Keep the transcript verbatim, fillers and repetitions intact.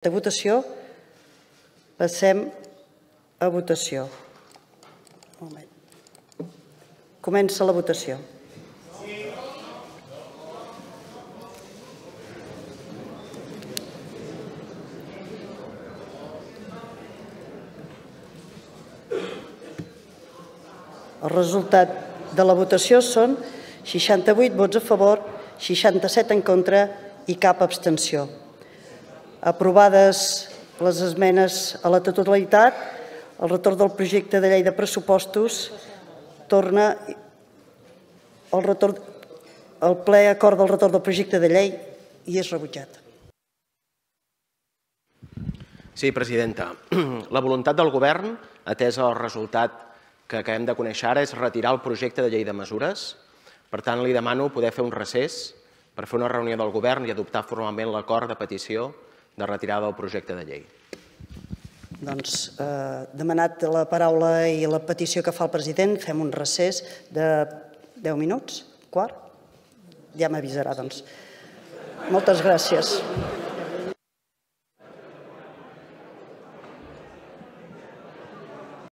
De votació, passem a votació. Un moment. Comença la votació. El resultat de la votació són seixanta-vuit vots a favor, seixanta-set en contra i cap abstenció. Aprovades les esmenes a la totalitat, el retorn del projecte de llei de pressupostos torna el retorn, el ple acord del retorn del projecte de llei i és rebutjat. Sí, presidenta. La voluntat del govern, atès el resultat que acabem de conèixer ara, és retirar el projecte de llei de mesures. Per tant, li demano poder fer un recés per fer una reunió del govern i adoptar formalment l'acord de petició de retirada del projecte de llei. Doncs, eh, demanat la paraula i la petició que fa el president, fem un recés de deu minuts, quart? Ja m'avisarà, doncs. Moltes gràcies.